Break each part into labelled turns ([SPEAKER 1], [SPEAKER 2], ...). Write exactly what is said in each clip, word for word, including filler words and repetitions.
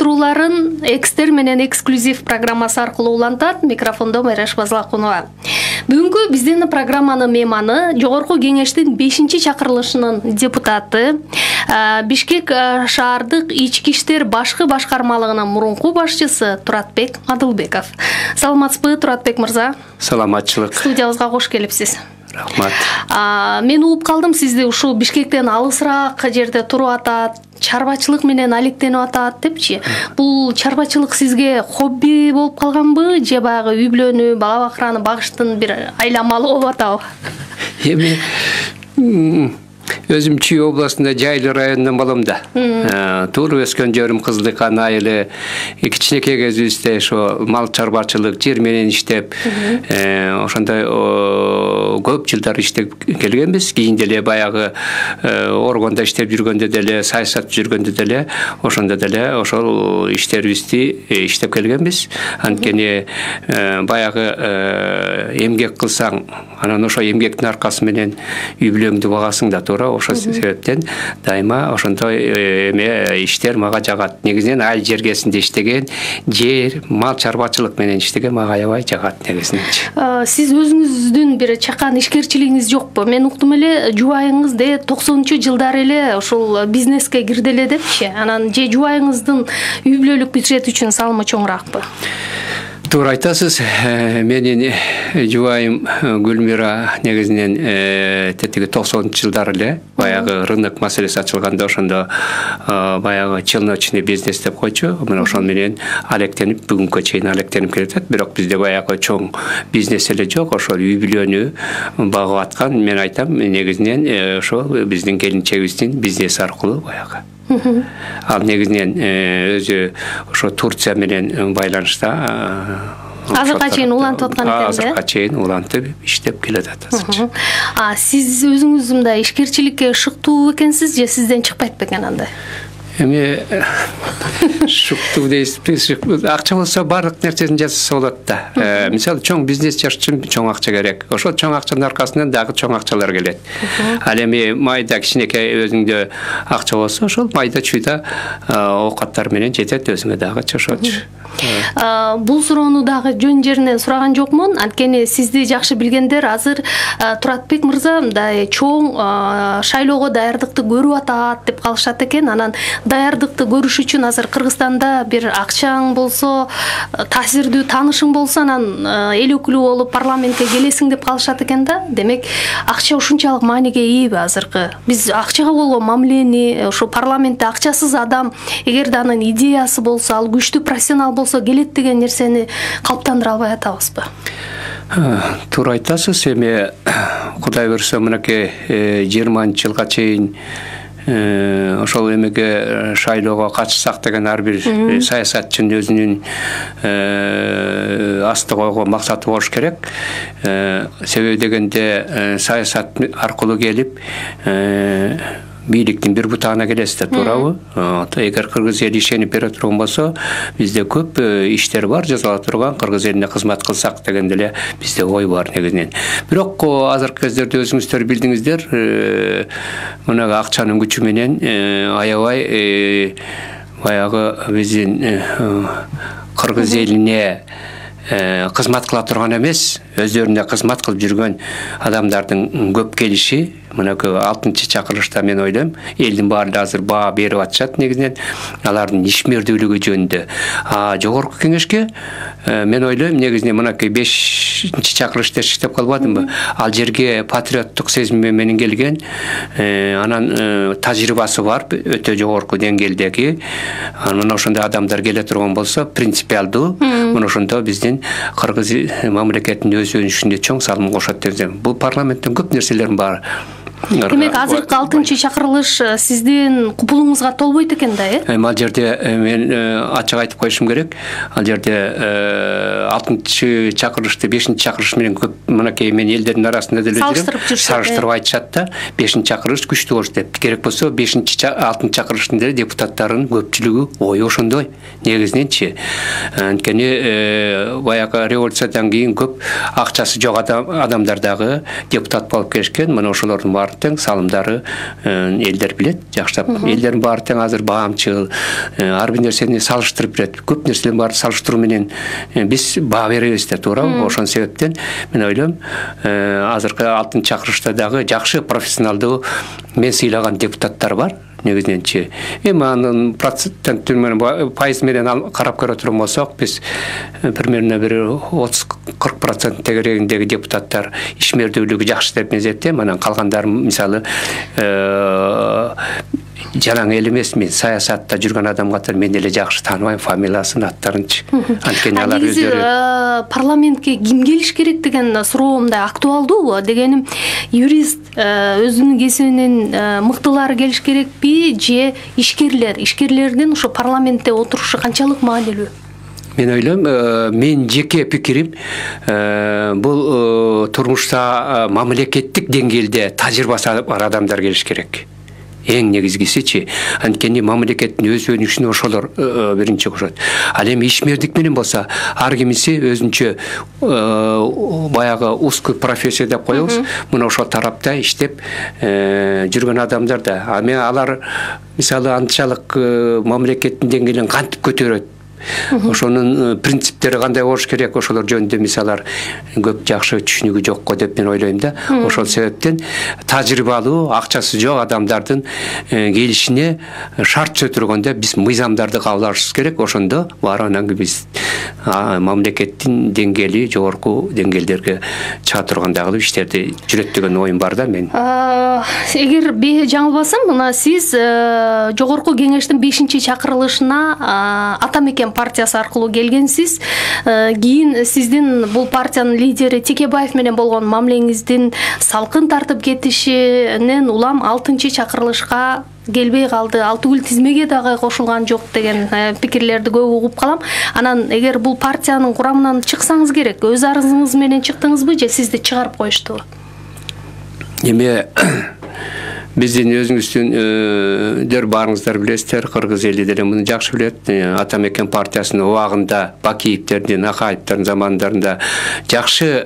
[SPEAKER 1] уюштурууларын Экстер менен эксклюзив программасы аркылуу улантат. Микрофондо Майраш Базлакунова. Бүгүнкү биздин программанын мейманы Жогорку Кеңештин бешинчи чакырылышынын депутаты, Бишкек шаардык ички иштер башкы башкармалыгынын мурунку башчысы Туратбек Мадылбеков. Саламатсызбы, Туратбек мырза?
[SPEAKER 2] Саламатчылык.
[SPEAKER 1] Студиябызга кош келипсиз.
[SPEAKER 2] Рахмат.
[SPEAKER 1] Мен угуп калдым, сизди ушул Бишкектен алысыраак жерде туруп атат, чарбачылык менен алектенип атат депчи. Бул чарбачылык сизге хобби болуп калганбы, же баягы үй бүлөнү, бала бакыраны багыштын бир айламалы болуп атабы?
[SPEAKER 2] Эми өзүм Чүй областында Жайлы районунан болом да. Тууруп өскөн жерим Кызылыкан айылы. Кичинекей кезибизде ошо мал чарбачылык, жер менен иштеп, ошондой көп жылдар иштеп келгенбиз. Кийин деле баягы органда иштеп жүргөндө деле, саясат жүргөндө деле, ошондо деле ошол иштерибизди иштеп келгенбиз. Анткени баягы эмгек кылсаң, анан ошо эмгектин аркасы менен үй бүлөңдү багасың да, туура. Ошол себептен дайыма ошондой эме иштер мага жагат. Негизинен айыл жергесинде иштеген, жер, мал чарбачылык менен иштеген мага аябай жагат негизинен.
[SPEAKER 1] Сиз өзүңүздүн бир чакан ишкерчилигиңиз жокпу? Мен уктум эле, жубайыңыз де токсонунчу жылдары эле ушул бизнеске кирди эле депчи. Анан же жубайыңыздын үй бүлөлүк бюджет үчүн салымы чоңураакпы?
[SPEAKER 2] Туура айтасыз. Менин жубайым Гүлмира негизинен тетиги токсонунчу жылдары эле баягы рынок маселеси ачылганда ошондо баягы челночный бизнес деп койчу. Мына ошол менен алектенип бүгүнкү чейин алектенип келатат. Бирок бизде баягы чоң бизнес эле жок. Ошол үй бүлөнү багып аткан, мен айтам, негизинен ошол биздин келинчегибиздин бизнес аркылуу баягы. Ал негизинен өзү ошо Турция менен байланышта
[SPEAKER 1] азыркы чейин улантып аткан экен да?
[SPEAKER 2] Азыркы чейин улантып иштеп келатат азыр.
[SPEAKER 1] А сиз өзүңүз мындай ишкерчиликке шыктуу экенсиз же сизден чыкпайт бекен андай?
[SPEAKER 2] Эми шуктуу дейсиз, акча болсо баардык нерсени жасаса болот да. Мисалы, чоң бизнес жаш үчүн чоң акча керек. Ошол чоң акчанын аркасынан дагы чоң акчалар келет. Ал эми майда кичинекей өзүңдө акча болсо, ошол майда чүйда оокаттар менен жетет өзүңө дагы чошочу.
[SPEAKER 1] Бул суроону дагы жөн жеринен сураган жокмун. Анткени сизди жакшы билгендер азыр Туратбек мырза мындай чоң шайлоого даярдыкты көрүп атат деп калышат экен. Анан даярдыкты көрүш үчүн азыр Кыргызстанда бир акчаң болсо, таасирдүү таанышың болсо, анан эл өкүлү болуп парламентке келесиң деп калышат экен да. Демек, акча ушунчалык мааниге ийби азыркы? Биз акчага болгон мамилени, ошо парламентте акчасыз адам, эгерде анын идеясы болсо, ал күчтүү профессионал болсо келет деген нерсени калыптандыра албай атабызбы?
[SPEAKER 2] Туура айтасыз. Эми Кудай буйрса, мынакей жыйырманчы жылга чейин ошол эмеге шайлоого катышсак деген ар бир саясатчынын өзүнүн асты койгон максаты болуш керек. Себеби дегенде саясат аркылуу келип бийликтин бир бутагына келесиз да, туурабы? Эгер кыргыз эли ишенип бере турган болсо, бизде көп иштер бар, жасала турган, кыргыз элине кызмат кылсак деген деле бизде ой бар негизинен. Бирок азыркы кездерде өзүңүздөр билдиңиздер, мына акчанын күчү менен аябай баягы биздин кыргыз элине кызмат кыла турган эмес, өздөрүнө кызмат кылып жүргөн адамдардын көп келиши мынакы алтынчы чакырылышта мен ойлойм, элдин баары азыр баа берип атышат негизинен алардын ишмердүүлүгү жөнүндө. А жогорку кеңешке мен ойлойм, негизинен мынакы бешинчи чакырылышта иштеп калбадымбы? Ал жерге патриоттук сезим менен келген, анан тажрыйбасы бар, өтө жогорку деңгээлдеги. Мына ошондой адамдар келе турган болсо, принципиалдуу, мына ошондо биздин кыргыз мамлекетинин өз өнүшүнө чоң салым кошот деп ойлойм. Бул парламенттин көп нерселерин бар.
[SPEAKER 1] Демек, азыркы алтынчы чакырылыш сиздин купулуңузга толбойт экен да, э?
[SPEAKER 2] Эми ал жерде мен ачык айтып коюшум керек. Ал жерде алтынчы чакырылышты бешинчи чакырылыш менен көп мынакей мен элдердин арасында деле жүрөм. Салыштырып айтышат да, бешинчи чакырылыш күчтүү болуш деп. Керек болсо бешинчи алтынчы чакырылыштын деле депутаттарынын көпчүлүгү ою ошондой. Негизиненчи. Анткени баягы революциядан кийин көп акчасы жок адамдар дагы депутат болуп келишкен. Мына ошолордун баары тең, салымдары элдер билет жакшылап. Элдердин баары тең азыр баамчыл, ар бир нерсени салыштырып билет. Көп нерселердин баары салыштыруу менен биз баа беребиз да, туурабы? Ошон себептен мен ойлойм, азыркы алтынчы чакырышта дагы жакшы профессионалдуу мен сыйлаган депутаттар бар. Негизиненчи эми анын процент менен пайыз менен карап көрө турган болсок, биз примерно бир отуз кырк процент тегерегиндеги депутаттар ишмердүүлүгү жакшы деп эсептейм. Анан калгандары мисалы жалаң эл эмес, мен саясатта жүргөн адам катары мен эле жакшы тааныбайм фамилиясын, аттарынчы. Анткени алар өздөрү
[SPEAKER 1] парламентке ким келиш керек деген суроо мындай актуалдуу. Дегеним, юрист өзүнүн кесибинен мыктылары келиш керекпи же ишкерлер? Ишкерлердин ошо парламентте отурушу канчалык маанилүү?
[SPEAKER 2] Мен ойлойм, мен жеке пикирим, бул турмушта мамлекеттик деңгээлде тажрыйбасы бар адамдар келиш керек. Эң негизгисичи, анткени мамлекеттин өз өнүгүшүнө ошолор биринчи кошот. Ал эми ишмердик менен болсо, ар кимиси өзүнчө баягы узкий профессия деп коебуз. Мына ошол тарапта иштеп жүргөн адамдар да. А мен алар мисалы анчалык мамлекеттин деңгээлин кантип көтөрөт? Ошонун принциптери кандай болуш керек? Ошолор жөнүндө мисалдар көп жакшы түшүнүгү жок го деп мен ойлойм да. Ошол себептен тажрыйбалуу, акчасы жок адамдардын келишине шарт чөтүргөндө биз мыйзамдарды кабыл алышыбыз керек. Ошондо баарынан биз мамлекеттин деңгээли жогорку деңгээлдерге чыга турган дагы иштерди жүрөт деген оюм бар да мен.
[SPEAKER 1] Эгер жаңылбасам, мына сиз жогорку кеңештин бешинчи чакырылышына Ата Мекен партиясы аркылуу келгенсиз. Кийин сиздин бул партиянын лидери Текебаев менен болгон мамилеңиздин салкын тартып кетишинен улам алтынчы чакырылышка келбей калды, Алтыгүл тизмеге дагы кошулган жок деген пикирлерди көп угуп калам. Анан эгер бул партиянын курамынан чыксаңыз керек, өз арызыңыз менен чыктыңызбы же сизди чыгарып коюштубу?
[SPEAKER 2] Эми биздин өзүңүздүн баарыңыздар билесиздер, кыргыз эли деле муну жакшы билет. Ата Мекен партиясынын убагында Бакиевтердин, Акаевтердин замандарында жакшы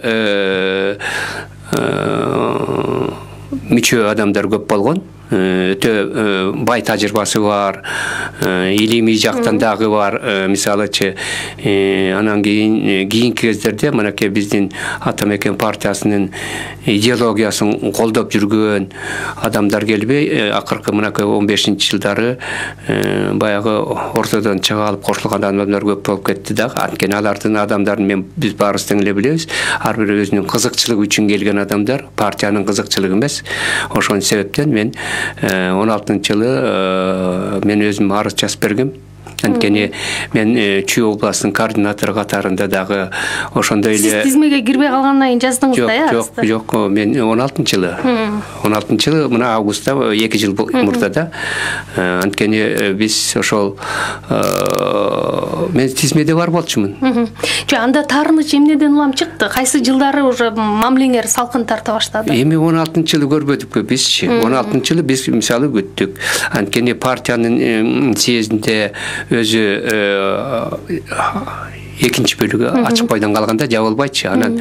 [SPEAKER 2] мүчө адамдар көп болгон. Өтө бай тажрыйбасы бар, илимий жактан дагы бар. Мисалычы, анан кийин кийинки кездерде мынакей биздин Ата Мекен партиясынын идеологиясын колдоп жүргөн адамдар келбей, акыркы мынакей он бешинчи жылдары баягы ортодон чыга алып кошулган адамдар көп болуп кетти да. Анткени алардын адамдарын мен биз баарыбыз тең эле билебиз. Ар бири өзүнүн кызыкчылыгы үчүн келген адамдар, партиянын кызыкчылыгы эмес. Ошон себептен мен он алтынчы жылы мен өзүм арыз жазып бергем. Анткени мен Чүй областынын координатору катарында дагы ошондой эле.
[SPEAKER 1] Сиз тизмеге кирбей калгандан кийин жаздыңыз да, э?
[SPEAKER 2] Жок, жок, мен он алтынчы жылы. он алтынчы жылы мына августта эки жыл мурда да. Анткени биз ошол мен тизмеде бар болчумун.
[SPEAKER 1] Жо, анда таарыныч эмнеден улам чыкты? Кайсы жылдары уже мамилеңер салкын тарта баштады?
[SPEAKER 2] Эми он алтынчы жылы көрбөдүкпү бизчи. он алтынчы жылы биз мисалы күттүк. Анткени партиянын съездинде өзү экинчи бөлүгү ачык бойдон калганда жабылбайчы. Анан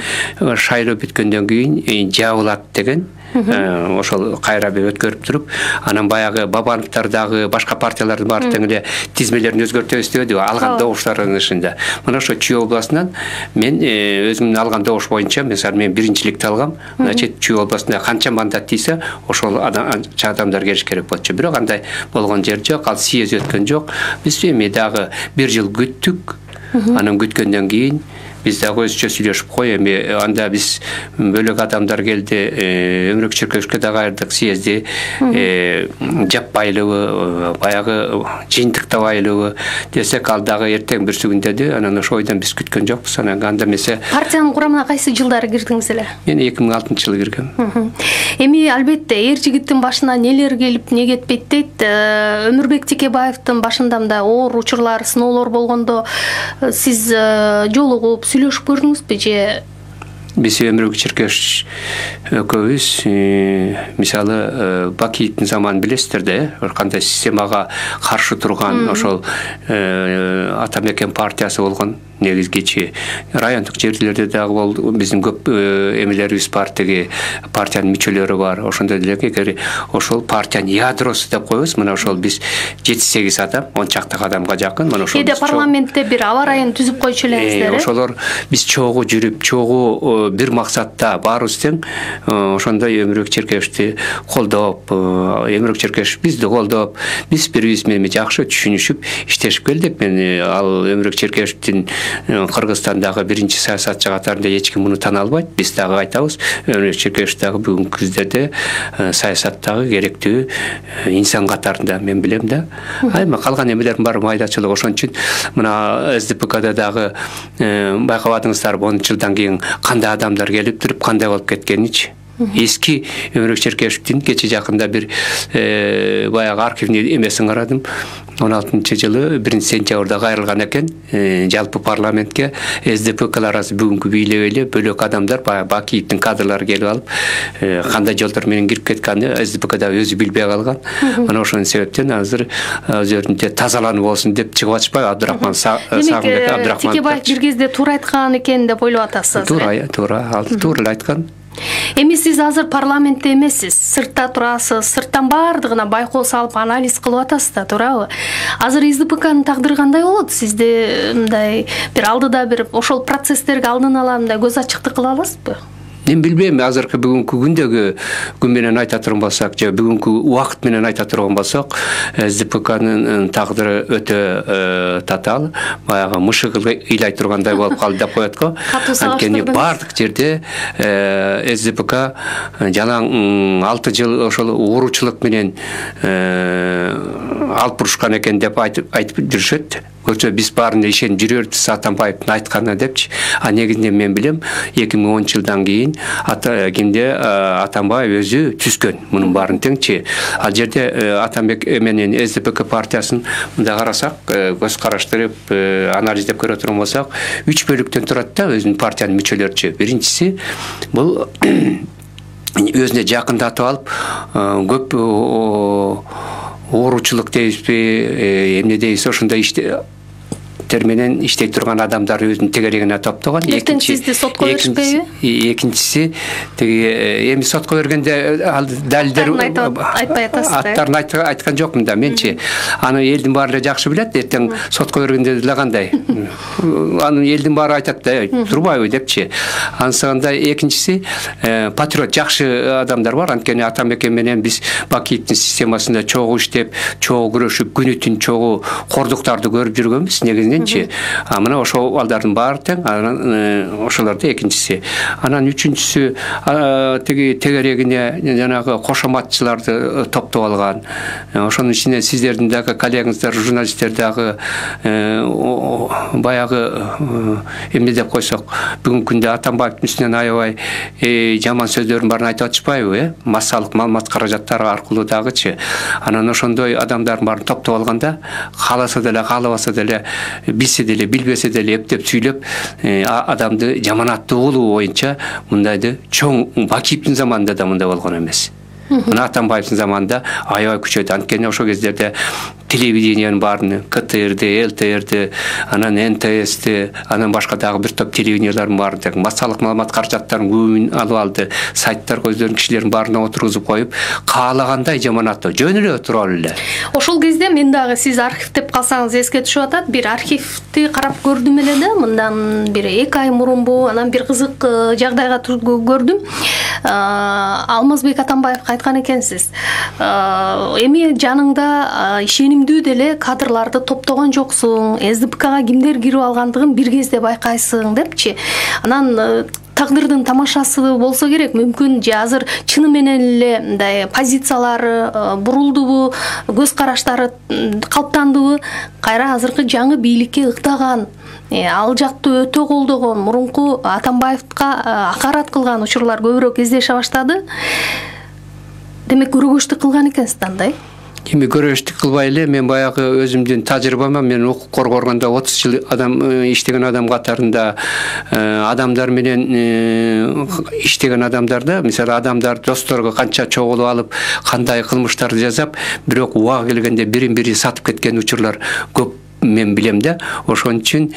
[SPEAKER 2] шайлоо бүткөндөн кийин жабылат деген ошол кайра бир өткөрүп туруп, анан баягы Бабановтар дагы башка партиялардын баары тең эле тизмелерин өзгөртөбүз дебедиби, алган добуштардын ышында. Мына ошо Чүй областынан мен өзүмдүн алган добуш боюнча, мисалы мен биринчиликти алгам. Значит, Чүй областында канча мандат тийсе, ошол адамдар келиш керек болчу. Бирок андай болгон жер жок, ал съезд өткөн жок. Биз эми дагы бир жыл күттүк. Анан күткөндөн кийин биз дагы өзүчө сүйлөшүп кой, эми анда биз бөлөк адамдар келди, Өмүрөк Чиркеевичке дагы айырдык съезди, жаппайлыбы, баягы жыйынтыктабайлыбы десек, ал дагы эртең бүрсүгүндө. Анан ошо ойдон биз күткөн жокпуз. Анан анда эмесе
[SPEAKER 1] партиянын курамына кайсы жылдары кирдиңиз эле?
[SPEAKER 2] Мен эки миң алтынчы жылы киргем.
[SPEAKER 1] Эми албетте эр жигиттин башына нелер келип, не кетпейт дейт. Өмүрбек Текебаевдин башында мындай оор учурлар, сыноолор болгондо сиз жолугуп сүйлөшүп көрдүңүзбү же
[SPEAKER 2] биз Өмүрбек Черкешев экөөбүз мисалы Бакиевдин заманын билесиздер да, кандай системага каршы турган ошол Атамекен партиясы болгон негизгичи райондук жерлерде дагы болду. Биздин көп эмелерибиз бар, теги партиянын мүчөлөрү бар. Ошондой деле эгер ошол партиянын ядросу деп коебуз, мына ошол биз жети сегиз адам, он чакты адамга жакын. Мына ошол
[SPEAKER 1] кээде парламентте бир аба райын түзүп койчу элеңиздер.
[SPEAKER 2] Ошолор биз чогуу жүрүп, чогуу бир максатта баарыбыз тең ошондой Өмүрбек Черкешевди колдоп, Өмүрбек Черкешев бизди колдоп, биз бири-бириз менен жакшы түшүнүшүп иштешип келдик. Мен ал Өмүрбек Черкешевдин Кыргызстандагы биринчи саясатчы катарында эч ким муну тана албайт. Биз дагы айтабыз, Өмүрбек Черкешев дагы бүгүнкү күздөрдө саясаттагы керектүү инсан катарында мен билем да. Айма калган эмелердин баары майдачылык. Ошон үчүн мына эс дэ пэ када дагы байкабадыңыздарбы, он жылдан кийин кандай адамдар келип туруп кандай болуп кеткеничи. Эски Өмүрбек Черкешевдин кече жакында бир баягы архивный эмесин карадым. он алтынчы жылы биринчи сентябрда кайрылган экен жалпы парламентке эс дэ пэ каларасы бүгүнкү бийлеп эле бөлөк адамдар, баягы Бакиевдин кадрлары келип алып, кандай жолдор менен кирип кеткенин эс дэ пэ када өзү билбей калган. Мына ошон себептен азыр өзүрүнүн тазаланып болсун деп чыгып атышпайбы Абдурахман Сагынбек Абдурахман.
[SPEAKER 1] Текебаев бир кезде туура айткан экен деп ойлоп атасыз.
[SPEAKER 2] Туура, туура, ал туура эле айткан.
[SPEAKER 1] Эми сиз азыр парламентте эмессиз, сыртта турасыз, сырттан баардыгына байкоо салып анализ кылып атасыз да, туурабы? Азыр эс дэ пэ канын тагдыры кандай болот? Сизде мындай бир алдыда бир ошол процесстерге алдын ала мындай көз ачыктык кыла аласызбы?
[SPEAKER 2] Мен билбейм, азыркы бүгүнкү күндөгү күн менен айта турган болсок, же бүгүнкү убакыт менен айта турган болсок, эс дэ пэ канын тагдыры өтө татаал, баягы мышык ыйлай тургандай болуп калды деп коет го. Анткени бардык жерде эс дэ пэ ка жалаң алты жыл ошол ууручулук менен алып бурушкан экен деп айтып жүрүшөт. Көрсө биз баарына ишенип жүрөбүз Атамбаевдин айтканына депчи. А негизинен мен билем, эки миң онунчу жылдан кийин ата кимде Атамбаев өзү түзгөн мунун баарын теңчи. Ал жерде Атамбек менен эс дэ пэ ка партиясын мындай карасак, көз караштырып анализдеп көрө турган болсак, үч бөлүктөн турат да өзүнүн партиянын мүчөлөрүчү. Биринчиси бул өзүнө жакындатып алып, көп ууручулук дейбизби, эмне дейбиз, ошондой иште терменен иштей турган адамдар өзүнүн тегерегине топтогон.
[SPEAKER 1] Эртең сизди сотко беришпейби?
[SPEAKER 2] Экинчиси, теги эми сотко бергенде ал далилдер
[SPEAKER 1] айтпай атасыз да.
[SPEAKER 2] Аттарын айткан жокмун да, менчи. Аны элдин баары эле жакшы билет, эртең сотко бергенде деле кандай. Аны элдин баары айтат да, турбайбы депчи. Ансында экинчиси патриот жакшы адамдар бар. Анткени Атамекен менен биз Бакиевдин системасында чогуу иштеп, чогуу күрөшүп, күнү түн чогуу кордуктарды көрүп жүргөнбүз. Негизинен А мына ошол балдардын баары тең, анан ошолорду экинчиси. Анан үчүнчүсү теги тегерегине жанагы кошоматчыларды топтоп алган. Ошонун ичинде сиздердин дагы коллегаңыздар, журналисттер дагы баягы эмне деп койсок, бүгүнкү күндө Атамбаевдин үстүнөн аябай жаман сөздөрдүн баарын айтып атышпайбы, э? Массалык маалымат каражаттары аркылуу дагычы. Анан ошондой адамдардын баарын топтоп алганда, кааласа деле, каалабаса деле, билсе деле, билбесе деле эптеп сүйлөп, адамды жаманаттуу кылуу боюнча мындайды чоң Бакиевдин заманында да мындай болгон эмес. Мына Атамбаевдин заманында аябай күчөйдү. Анткени ошол кездерде телевидениянын баарын, ка тэ эрди, эл тэ эрди, анан эн тэ эсти, анан башка дагы бир топ телевидениялардын баарын, массалык маалымат каражаттарын көбүн алып алды. Сайттар көздөрүн кишилердин баарына отургузуп коюп, каалагандай жаманаттоо жөн эле туруп эле.
[SPEAKER 1] Ошол кезде мен дагы сиз архив деп калсаңыз эске түшүп атат. Бир архивди карап көрдүм эле да, мындан бир эки ай мурунбу, анан бир кызык жагдайга көрдүм. Алмазбек Атамбаевга айткан экенсиз. Эми жаныңда ишенимдүү деле кадрларды топтогон жоксуң, эс дэ пэ кага кимдер кирип алгандыгын бир кезде байкайсың депчи. Анан тагдырдын тамашасы болсо керек, мүмкүн же азыр чыны менен эле мындай позициялары бурулдубу, көз караштары калыптандыбы, кайра азыркы жаңы бийликке ыктаган, ал жакты өтө колдогон, мурунку Атамбаевга акарат кылган учурлар көбүрөөк кездеше баштады. Демек көрөгөчтүк кылган экенсиз андай?
[SPEAKER 2] Эми көрөштүк кылбай эле мен баягы өзүмдүн тажрыйбама мен укук коргогонда отуз жыл адам иштеген адам катарында адамдар менен иштеген адамдарда мисалы адамдар досторго канча чогулуп алып кандай кылмыштарды жасап, бирок убага келгенде бирин бири сатып кеткен учурлар көп мен билем да. Ошон үчүн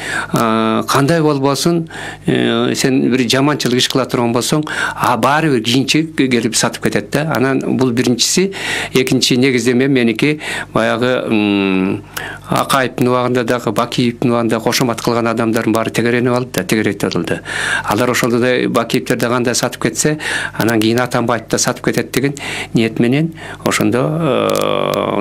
[SPEAKER 2] кандай болбосун, сен бир жаманчылык иш кыла турган болсоң, а баары бир кийинчи келип сатып кетет да. Анан бул биринчиси. Экинчи негиздеме меники баягы Акаевдин убагында дагы, Бакиевдин убагында кошомат кылган адамдардын баары тегеренип алды да, тегеретип алды. Алар ошолдой Бакиевдер да кандай сатып кетсе, анан кийин Атамбаев да сатып кетет деген ниет менен ошондо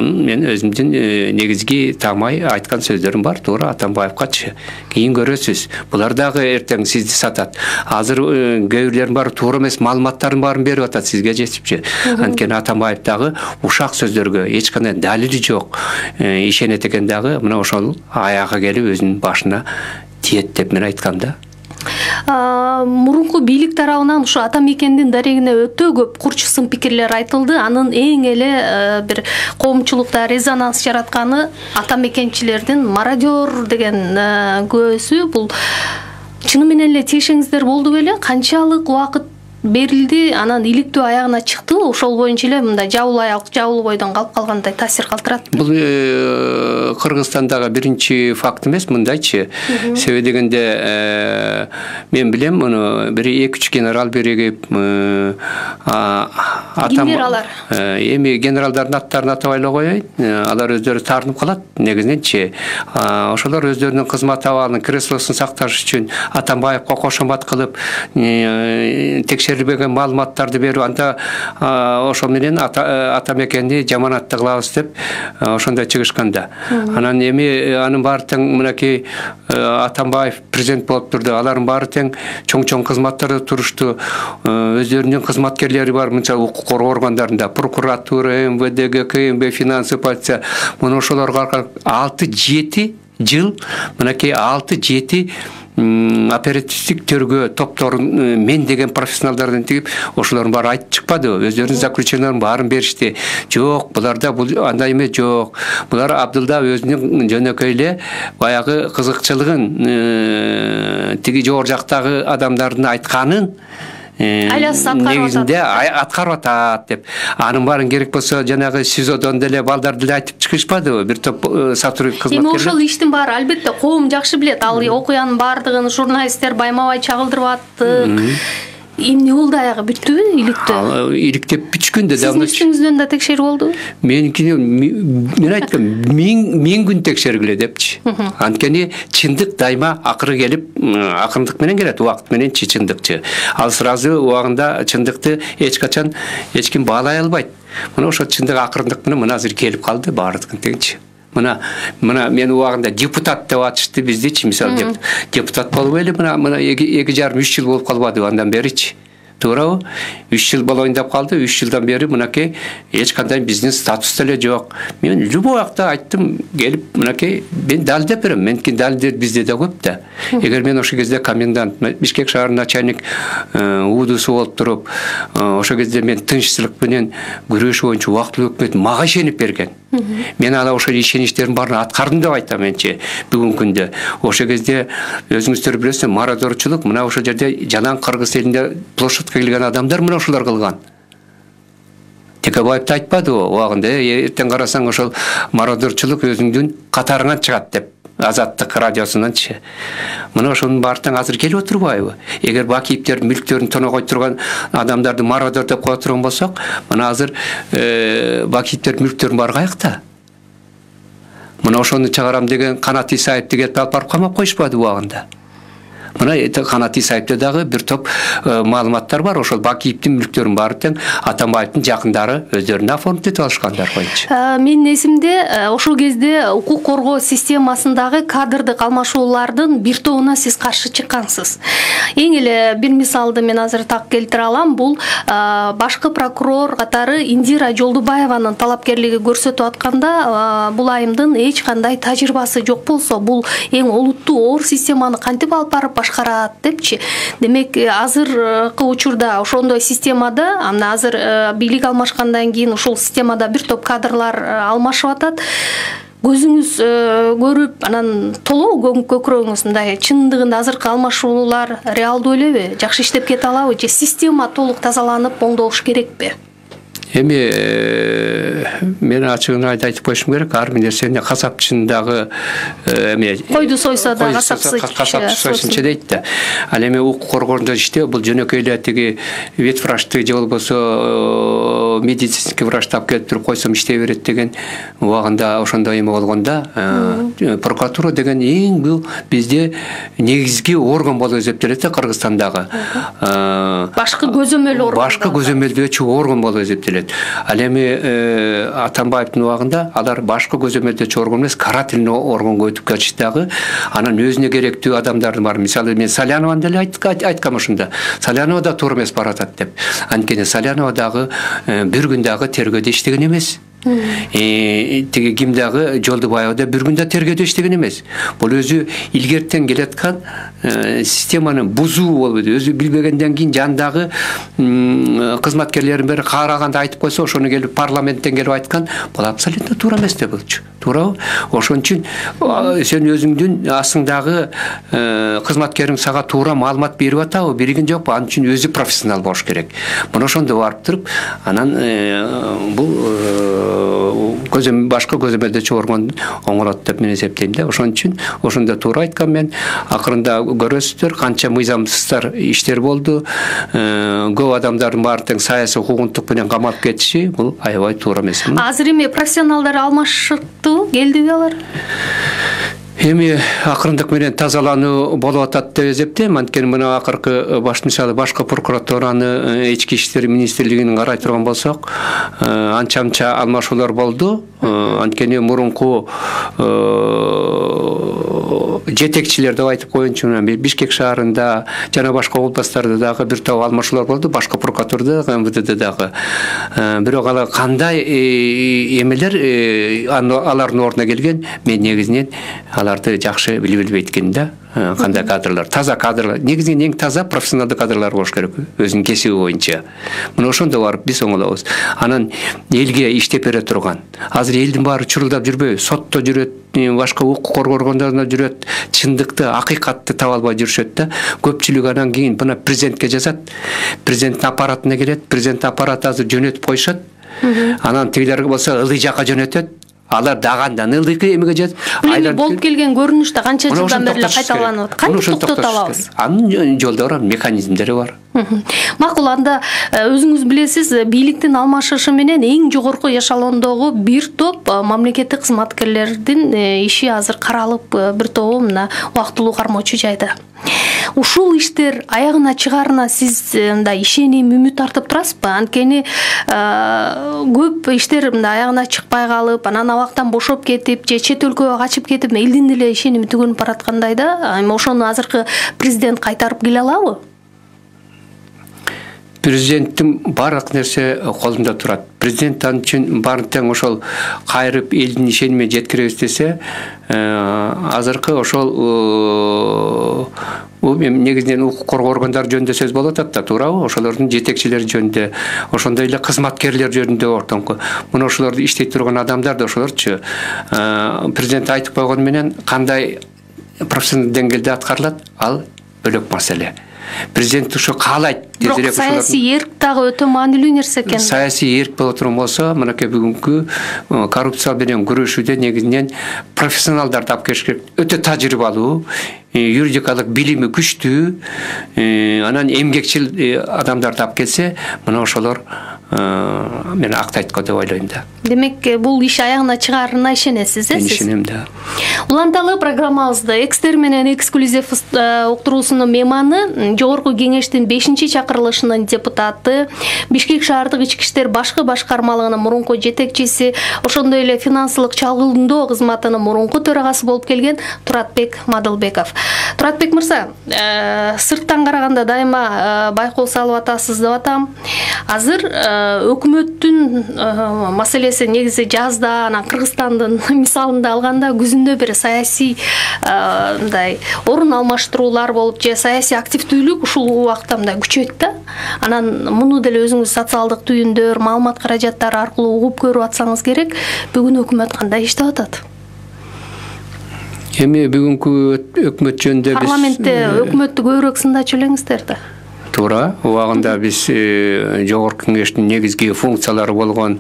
[SPEAKER 2] мен өзүмдүн негизги таамай айткан сөздөрүм бар, туура Атамбаевгачы. Кийин көрөсүз. Булар дагы эртең сизди сатат. Азыр көбүрлөрүн баары туура эмес маалыматтардын баарын берип атат сизге жетипчи. Анткени Атамбаев дагы ушак сөздөргө эч кандай далили жок ишенет экен дагы, мына ошол аягы келип өзүнүн башына тиет деп мен айткам да.
[SPEAKER 1] Мурунку бийлик тарабынан ушу ата мекендин дарегине өтө көп курч сын пикирлер айтылды. Анын эң эле бир коомчулукта резонанс жаратканы ата мекенчилердин мародер деген көзү. Бул чыны менен эле тиешеңиздер болду беле? Канчалык убакыт берилди, анан иликтөө аягына чыктыбы? Ошол боюнча эле мындай жабыл аяк, жабыл бойдон калып калгандай таасир калтырат.
[SPEAKER 2] Бул Кыргызстандагы биринчи факт эмес, мындайчы. Себеби дегенде мен билем, муну бир эки үч генерал биригип
[SPEAKER 1] генералдар.
[SPEAKER 2] Эми генералдардын аттарын атабай эле коеюн. Алар өздөрү таарынып калат негизиненчи. Ошолор өздөрүнүн кызмат абалын, креслосун сакташ үчүн Атамбаевга кошомат кылып, текшерилбеген маалыматтарды берип, анда ошол менен ата мекенди жаманатты кылабыз деп ошондой чыгышканда. Анан эми анын баары тең мынакей Атамбаев президент болуп турду. Алардын баары тең чоң-чоң кызматтарда турушту. Өздөрүнүн кызматкерлери бар, мынча укук коргоо органдарында, прокуратура, эм вэ дэ, гэ ка эм бэ, финансы полиция. Муну ошолорго алты жети жыл мынакей алты жети оперативдик төргө топторун мен деген профессионалдардан тигип, ошолордун баары айтып чыкпадыбы? Өздөрүнүн заключенияларын баарын беришти. Жок, буларда бул андай эмес, жок. Булар Абдылда өзүнүн жөнөкөй эле баягы кызыкчылыгын тиги жогору жактагы адамдардын айтканын негизинде аткарып атат деп. Анын баарын керек болсо жанагы СИЗОдон деле балдар деле айтып чыгышпадыбы? Бир топ сотрудник кызматкерлер.
[SPEAKER 1] Эми ошол иштин баары албетте коом жакшы билет. Ал окуянын баардыгын журналисттер байма-бай чагылдырып аттык. Эмне болду, аягы бүттүбү иликтөө?
[SPEAKER 2] Иликтеп бүчкүндө да.
[SPEAKER 1] Сиздин үстүңүздөн да текшерүү болду?
[SPEAKER 2] Меники мен айткам, мен күн текшергиле депчи. Анткени чындык дайыма акыры келип, акырындык менен келет, убакыт менен чындыкчы. Ал сразу убагында чындыкты эч качан эч ким баалай албайт. Мына ошо чындык акырындык менен мына азыр келип калды баардыгын тегинчи. Мына мына мен убагында депутат деп атышты биздичи, мисалы депутат болуп эле мына мына эки жарым үч жыл болуп калбады андан беричи. Туурабы? үч жыл болоюн деп калды. үч жылдан бери мынакей эч кандай биздин статус деле жок. Мен любой убакта айттым, келип мынакей мен далилдеп берем. Меники далилдер бизде да көп да. Эгер мен ошол кезде комендант, Бишкек шаарынын начальник УДУсу болуп туруп, ошол кезде мен тынччылык менен күрөш боюнча убактылуу өкмөт мага ишенип берген. Мен ала ошол ишеничтердин баарын аткардым деп айтам менчи бүгүнкү күндө. Ошол кезде өзүңүздөр билесиздер, мародерчулук мына ошол жерде жалаң Кыргыз элинде площадка келген адамдар мына ошолор кылган. Текебаевди айтпадыбы убагында, эртең карасаң ошол мародерчулук өзүңдүн катарыңан чыгат деп. Азаттык радиосунанчы. Мына ошонун баардыгы азыр келип отурбайбы? Эгер Бакиевдер мүлктөрүн тоногой турган адамдарды мародер деп кое турган болсок, мына азыр Бакиевдер мүлктөрүн баары каякта? Мына ошону чыгарам деген Канат Исаевди келип алып барып камап коюшпады убагында. Мына Канат Исаевде дагы бир топ маалыматтар бар. Ошол Бакиевдин мүлктөрүн баары тең Атамбаевдин жакындары өздөрүнө оформдеп алышкандар койчу.
[SPEAKER 1] Менин эсимде ошол кезде укук коргоо системасындагы кадрдык алмашуулардын бир тобуна сиз каршы чыккансыз. Эң эле бир мисалды мен азыр так келтире алам. Бул башкы прокурор катары Индира Жолдубаеванын талапкерлиги көрсөтүп атканда, бул айымдын эч кандай тажрыйбасы жок болсо, бул эң олуттуу оор системаны кантип алып барып башкарат депчи. Демек азыркы учурда ошондой системада мына азыр бийлик алмашкандан кийин ушул системада бир топ кадрлар алмашып атат. Көзүңүз көрүп, анан толуу көкүрөгүңүз мындай чындыгында азыркы алмашуулар реалдуу элеби? Жакшы иштеп кете алабы же система толук тазаланып оңдолуш керекпи?
[SPEAKER 2] Эми мен ачыгын айтып коюшум керек, ар бир нерсени касапчындагы эме
[SPEAKER 1] койду сойсо да касапчы
[SPEAKER 2] сойсунчу дейт да. Ал эми укук коргоонда иштөө бул жөнөкөй эле тиги ветврачты же болбосо медицинский врачты алып келип туруп койсом иштей берет деген убагында ошондой эме болгондо прокуратура деген эң бул бизде негизги орган болуп эсептелет да Кыргызстандагы.
[SPEAKER 1] Башкы көзөмөл орган.
[SPEAKER 2] Башкы көзөмөлдөөчү орган болуп эсептелет. Ал эми Атамбаевдин убагында алар башкы көзөмөлдөөчү орган эмес, карательный органга өтүп кетишти дагы. Анан өзүнө керектүү адамдардын бар. Мисалы мен Салянованы деле айткам ушунда. Салянова да туура эмес баратат деп. Анткени Салянова дагы бир күн дагы тергөөдө иштеген эмес. Тиги ким дагы Жолдубаева да бир күндө тергөөдө иштеген эмес. Бул өзү илгертен келаткан системаны бузуу болуп, өзү билбегенден кийин жандагы кызматкерлердин бери караганда айтып койсо, ошону келип парламенттен келип айткан, бул абсолютно туура эмес деп болчу. Туурабы? Ошон үчүн сен өзүңдүн астыңдагы кызматкериң сага туура маалымат берип атабы, берген жокпу? Ал үчүн өзү профессионал болуш керек. Мына ошондо барып туруп, анан бул көзөм башка көзөмөлдөөчү орган оңолот деп мен эсептейм да. Ошон үчүн ошондо туура айткан мен. Акырында көрөсүздөр канча мыйзамсыздар иштер болду. Көп адамдардын баары тең саясий укугунтук менен камалып кетиши бул аябай туура эмес.
[SPEAKER 1] Азыр эми профессионалдар алмашыктуу, келдиби алар?
[SPEAKER 2] Эми акырындык менен тазалануу болуп атат деп эсептейм. Анткени мына акыркы баш мисалы башкы прокуратураны, ички иштер министрлигин карай турган болсок, анча-анча алмашуулар болду. Анткени мурунку жетекчилер деп айтып коеюнчу, Бишкек шаарында жана башка областтарда дагы бир топ алмашуулар болду, башка прокуратурада, эм вэ дэ дагы. Бирок алар кандай эмелер алардын ордуна келген, мен негизинен аларды жакшы билип билбейт экен да. Кандай кадрлар, таза кадрлар, негизинен эң таза профессионалдуу кадрлар болуш керек, өзүнүн кесиби боюнча. Мына ошондо барып биз оңолобуз. Анан элге иштеп бере турган. Азыр элдин баары чурулдап жүрбөйбү, сотто жүрөт, башка укук коргооргондорунда жүрөт, чындыкты, акыйкатты таба албай жүрүшөт да. Көпчүлүк анан кийин мына президентке жазат, президенттин аппаратына келет, президент аппараты азыр жөнөтүп коюшат. Анан тигилерге болсо ылдый жакка жөнөтөт. Алар даганда ылдыйкы эмеге жет.
[SPEAKER 1] Айдар болуп келген көрүнүштө канча жылдан бери кайталанып атат. Кантип токтото алабыз?
[SPEAKER 2] Анын жолдору, механизмдери бар.
[SPEAKER 1] Макул, анда өзүңүз билесиз, бийликтин алмашышы менен эң жогорку эшелондогу бир топ мамлекеттик кызматкерлердин иши азыр каралып, бир тобу мына убактылуу кармоочу жайда. Ушул иштер аягына чыгарына сиз мындай ишеним, үмүт артып турасызбы? Анткени көп иштер мындай аягына чыкпай калып, анан абактан бошоп кетип, же чет өлкөгө качып кетип, элдин деле ишеними түгөнүп бараткандай да. Эми ошону азыркы президент кайтарып келе алабы?
[SPEAKER 2] Президенттин барлык нерсе колунда турат. Президент ал үчүн баарын тең ошол кайрып элдин ишенимине жеткиребиз десе, азыркы ошол негизинен укук коргоо органдары жөнүндө сөз болуп атат да, туурабы? Ошолордун жетекчилери жөнүндө, ошондой эле кызматкерлер жөнүндө ортоңку. Мына ошолорду иштей турган адамдар да ошолорчу. Президент айтып койгону менен кандай профессионал деңгээлде аткарылат, ал бөлөк маселе. Президент ошо каалайт.
[SPEAKER 1] Бирок саясий эрк дагы өтө маанилүү нерсе экен.
[SPEAKER 2] Саясий эрк боло турган болсо, мынакей бүгүнкү коррупция менен күрөшүүдө негизинен профессионалдарды алып келиш керек. Өтө тажрыйбалуу, юридикалык билими күчтүү, анан эмгекчил адамдарды алып келсе, мына ошолор мен актайт го деп ойлойм да.
[SPEAKER 1] Демек, бул иш аягына чыгарына ишенесиз, э?
[SPEAKER 2] Мен ишенем да.
[SPEAKER 1] Уланталы программабызды экстер менен эксклюзив уктуруусунун мейманы, жогорку кеңештин бешинчи чакырылышынын депутаты, Бишкек шаардык ички иштер башкы башкармалыгынын мурунку жетекчиси, ошондой эле финансылык чалгындоо кызматынын мурунку төрагасы болуп келген Туратбек Мадылбеков. Туратбек мырза, сырттан караганда дайыма байкоо салып атасыз деп атам. Азыр өкмөттүн маселеси негизи жазда, анан Кыргызстандын мисалында алганда күзүндө бир саясий мындай орун алмаштыруулар болуп же саясий активдүүлүк ушул убакта мындай күчөйт да. Анан муну деле өзүңүз социалдык түйүндөр, маалымат каражаттары аркылуу угуп көрүп атсаңыз керек. Бүгүн өкмөт кандай иштеп атат?
[SPEAKER 2] Эми бүгүнкү өкмөт жөнүндө биз
[SPEAKER 1] парламентте өкмөттү көбүрөөк сындачу элеңиздер да.
[SPEAKER 2] Туура, убагында биз жогорку кеңештин негизги функциялары болгон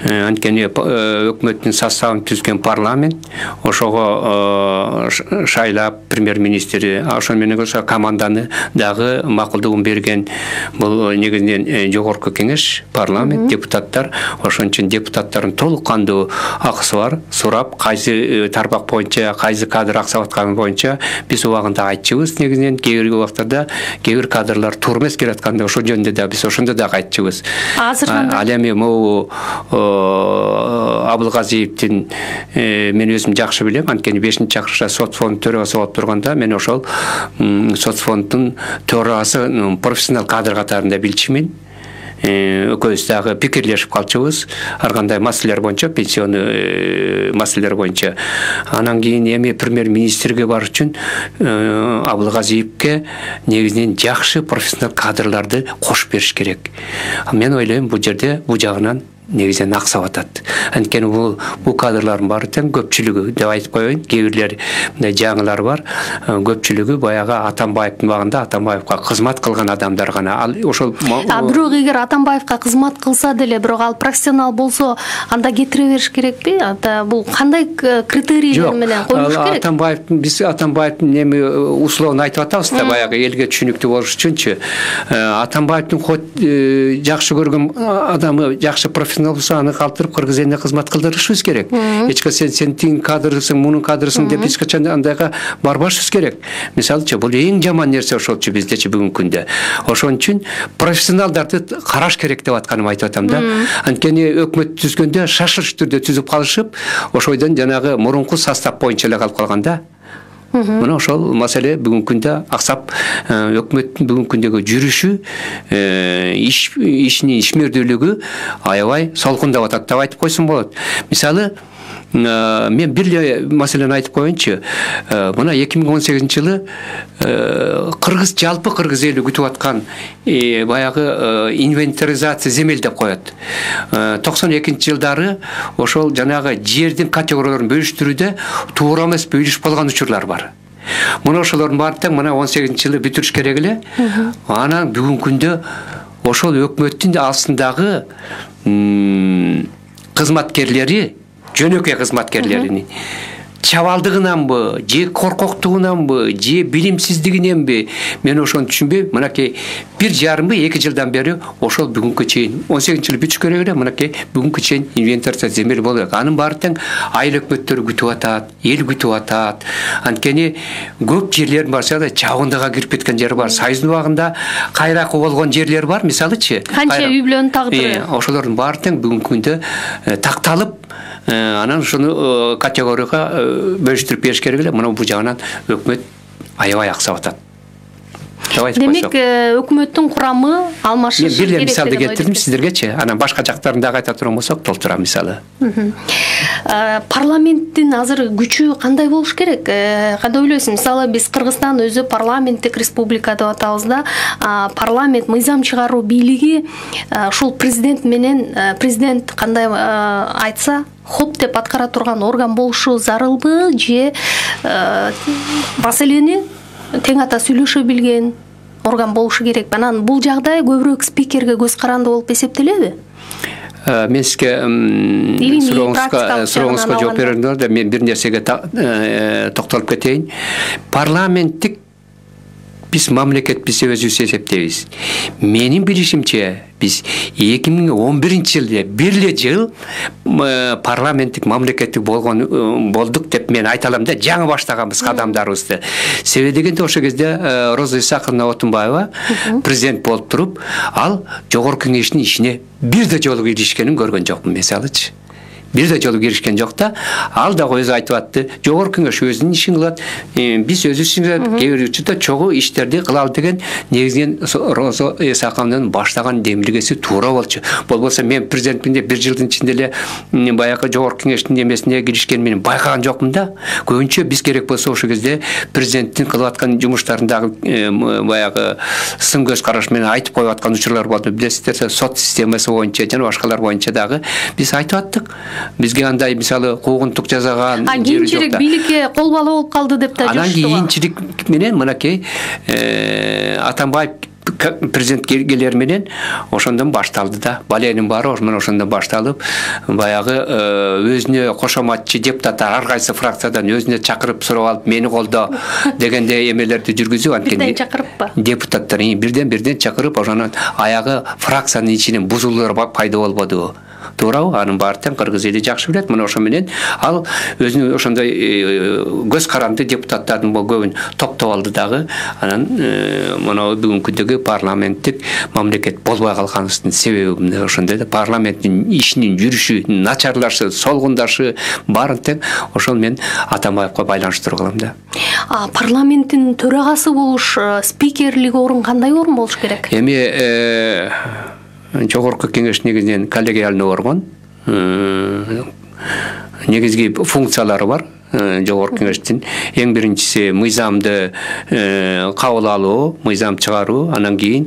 [SPEAKER 2] анткени өкмөттүн составын түзгөн парламент, ошого шайлап премьер-министри, ошол менен кошо команданы дагы макулдугун берген бул негизинен жогорку кеңеш, парламент, депутаттар, ошон үчүн депутаттардын толук кандуу акысы бар. Сурап, кайсы тармак боюнча, кайсы кадр аксап атканы боюнча биз убагында айтчубуз. Негизинен кээ бир убактарда кээ бир кадрлар эмес келатканда ошол жөнүндө да биз ошондо да айтчубуз.
[SPEAKER 1] Азыр
[SPEAKER 2] ал эми могу Абылгазиевдин мен өзүм жакшы билем, анткени бешинчи чакырышта сот фонд төрагасы болуп турганда мен ошол сот фонддун төрагасы профессионал кадр катарында билчүмүн. Экөөбүз дагы пикирлешип калчубуз ар кандай маселелер боюнча, пенсионный маселелер боюнча. Анан кийин эми премьер-министрге бар үчүн Абылгазиевке негизинен жакшы профессионал кадрларды кошуп бериш керек. Мен ойлойм, бул жерде бул жагынан негизинен аксап атат. Анткени бул бул кадрлардын баары тең көпчүлүгү деп айтып коеюн. Кээ бирлер мындай жаңылар бар. Көпчүлүгү баягы Атамбаевдин убагында Атамбаевга кызмат кылган адамдар гана. Ал ошол
[SPEAKER 1] А бирок эгер Атамбаевга кызмат кылса деле, бирок ал профессионал болсо, анда кетире бериш керекпи? Ата бул кандай критерийлер менен коюлуш керек?
[SPEAKER 2] Атамбаевдин биз Атамбаевдин эми условно айтып атабыз да, баягы элге түшүнүктүү болуш үчүнчү. Атамбаевдин хоть жакшы көргөн адамы, жакшы профессионал болсо аны калтырып Кыргыз элине кызмат кылдырышыбыз керек. Эч качан сен сен тиң кадрсың, мунун кадрсың деп эч качан андайга барбашыбыз керек. Мисалычы, бул эң жаман нерсе ошолчу биздечи бүгүнкү күндө. Ошон үчүн профессионалдарды караш керек деп атканым айтып атам да. Анткени өкмөт түзгөндө шашылыш түрдө түзүп калышып, ошойдон жанагы мурунку состав боюнча эле калып калган да. Мына ошол маселе бүгүнкү күндө аксап, өкмөттүн бүгүнкү күндөгү жүрүшү, иш ишинин ишмердүүлүгү аябай солкундап атат деп айтып койсом болот. Мисалы, мен бир эле маселени айтып коеюнчу. Мына эки миң он сегизинчи жылы Кыргыз жалпы Кыргыз эли күтүп аткан баягы инвентаризация земель деп коет. токсон экинчи жылдары ошол жанагы жердин категорияларын бөлүштүрүүдө туура эмес бөлүш болгон учурлар бар. Мына ошолордун баары тең мына он сегизинчи жылы бүтүрүш керек эле. Анан бүгүнкү күндө ошол өкмөттүн астындагы кызматкерлери, жөнөкөй кызматкерлерини чабалдыгынанбы, же коркоктугунанбы, же билимсиздигиненби, мен ошону түшүнбөйм. Мынакей бир жарым эки жылдан бери ошол бүгүнкү чейин он сегизинчи жылы бүтүш керек эле, мынакей бүгүнкү чейин инвентаризация земель болот. Анын баары тең айыл өкмөттөрү күтүп атат, эл күтүп атат. Анткени көп жерлердин барса чабындыга кирип кеткен жер бар. Союздун убагында кайракы болгон жерлер бар, мисалычы.
[SPEAKER 1] Канча үй бүлөнүн тагдыры.
[SPEAKER 2] Ошолордун баары тең бүгүнкү күндө такталып, анан ушуну категорияга бөлүштүрүп бериш керек эле. Мына бул жагынан өкмөт аябай аксап атат.
[SPEAKER 1] Демек, өкмөттүн курамы алмашыш керек.
[SPEAKER 2] Бир эле мисалды келтирдим сиздергечи. Анан башка жактарын дагы айта турган болсок, толтура мисалы.
[SPEAKER 1] Парламенттин азыр күчү кандай болуш керек? Кандай ойлойсуң? Мисалы, биз Кыргызстан өзү парламенттик республика деп атабыз да. Парламент, мыйзам чыгаруу бийлиги ушул президент менен, президент кандай айтса, хоп деп аткара турган орган болушу зарылбы, же маселени тең ата сүйлөшө билген орган болушу керек. Анан бул жагдай көбүрөөк спикерге көз каранды болуп эсептелеби?
[SPEAKER 2] Мен сизге сурооңузга жооп берерден да мен бир нерсеге токтолуп кетейин. Парламенттик биз мамлекетпиз деп өзүбүз эсептейбиз. Менин билишимче биз эки миң он биринчи жылда бир эле жыл парламенттик мамлекеттик болгон болдук деп мен айта алам да, жаңы баштаганбыз кадамдарыбызды. Себеби дегенде ошол кезде Роза Исаковна Отунбаева президент болуп туруп, ал жогорку кеңештин ишине бир да жолу киришкенин көргөн жокмун, мисалычы. бир да жолу киришкен жок да. Ал дагы өзү айтып атты, жогорку кеңеш өзүнүн ишин кылат, биз өзүбүз ишин кээ бир учурда чогуу иштерди кылалы деген негизинен Роза Исакованын баштаган демилгеси туура болчу. Болбосо мен президенттикте бир жылдын ичинде эле баягы жогорку кеңештин эмесине киришкен менен байкаган жокмун да. Көбүнчө биз керек болсо ошол кезде президенттин кылып аткан жумуштарын дагы баягы сын көз караш менен айтып коюп аткан учурлар болду. Билесиздер, сот системасы боюнча жана башкалар боюнча дагы биз айтып аттык. Бизге андай мисалы куугунтук жасаган
[SPEAKER 1] жери жок. Кийинчерээк бийликке кол бала болуп калды деп да жүрүштү.
[SPEAKER 2] Анан кийинчерээк менен мынакей Атамбаев президент келер менен ошондон башталды да. Баленин баары ошондон башталып, баягы өзүнө кошоматчы депутаттар ар кайсы фракциядан өзүнө чакырып сурап алып, мени колдо дегенде эмелерди жүргүзүп, анткени
[SPEAKER 1] чакырыппы?
[SPEAKER 2] Депутаттар бирден-бирден чакырып, ошонун аягы фракциянын ичинен бузулуулар пайда болбодубу? Туурабы? Анын баары тең кыргыз эли жакшы билет. Мына ошо менен ал өзүнүн ошондой көз каранды депутаттардын көбүн топтоп алды дагы. Анан мына бүгүнкүдөгү парламенттик мамлекет болбой калганыбыздын себеби мына ошондой да. Парламенттин ишинин жүрүшү начарлашы, солгундашы баарын тең ошол мен Атамбаевка байланыштырып калам да.
[SPEAKER 1] А парламенттин төрагасы болуш, спикерлик орун кандай орун болуш керек?
[SPEAKER 2] Эми жогорку кеңеш негизинен коллегиальный орган, негизги функциялары бар. Жогорку кеңештин эң биринчиси мыйзамды кабыл алуу, мыйзам чыгаруу, анан кийин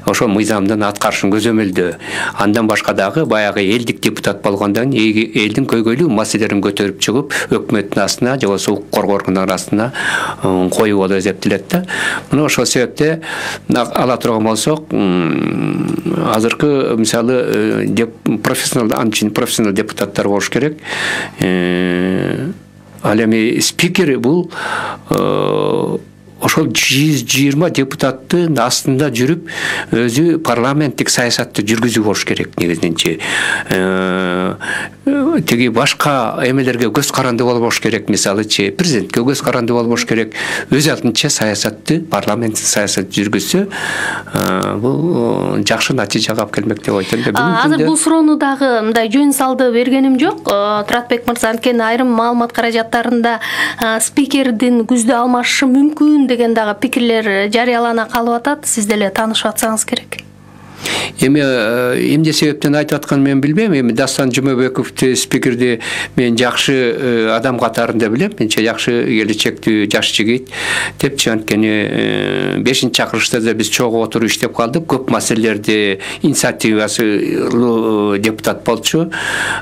[SPEAKER 2] ошол мыйзамдын аткарышын көзөмөлдөө. Андан башка дагы баягы элдик депутат болгондон элдин көйгөйлүү маселелерин көтөрүп чыгып, өкмөттүн астына же болбосо укук коргоо органдарынын астына коюу болуп эсептелет да. Мына ошол себепте ала турган болсок, азыркы мисалы профессионал анчын профессионал депутаттар болуш керек. Ал эми спикер бул ошол жүз жыйырма депутаттын астында жүрүп, өзү парламенттик саясатты жүргүзүү болуш керек негизиненчи. Теги башка эмелерге көз каранды болбош керек, мисалычы президентке көз каранды болбош керек. Өз алдынча саясатты, парламенттик саясат жүргүзсө, бул жакшы натыйжага алып келмек деп ойлойм.
[SPEAKER 1] Азыр бул суроону дагы мындай жөн салды бергеним жок. Туратбек мырза, анткени айрым маалымат каражаттарында спикердин күздө алмашышы мүмкүн деген дагы пикирлер жарыялана калып атат. Сиз деле таанышып атсаңыз керек.
[SPEAKER 2] Эми эмне себептен айтып атканын мен билбейм. Эми Дастан Жумабековду спикерди мен жакшы адам катарында билем. Менче жакшы келечектүү жаш жигит депчи, анткени бешинчи чакырылышта да биз чогуу отуруп иштеп калдык. Көп маселелерди инициативасы депутат болчу,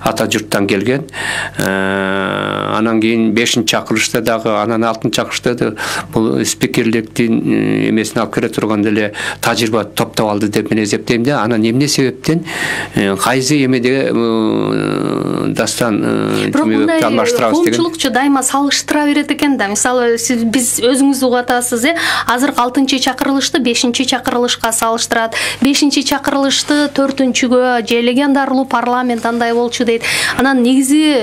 [SPEAKER 2] ата журттан келген. Анан кийин бешинчи чакырылышта дагы, анан алтынчы чакырылышта да бул спикерликтин эмесин алып келе турган деле тажрыйба топтоп алды деп мен эсептейм да. Анан эмне себептен кайсы эмеде Дастан Жумабековду алмаштырабыз деген.
[SPEAKER 1] Коомчулукчу дайыма салыштыра берет экен да. Мисалы сиз биз өзүңүз угуп атасыз, э, азыркы алтынчы чакырылышты бешинчи чакырылышка салыштырат. бешинчи чакырылышты төртүнчүгө же легендарылуу парламент андай болчу дейт. Анан негизи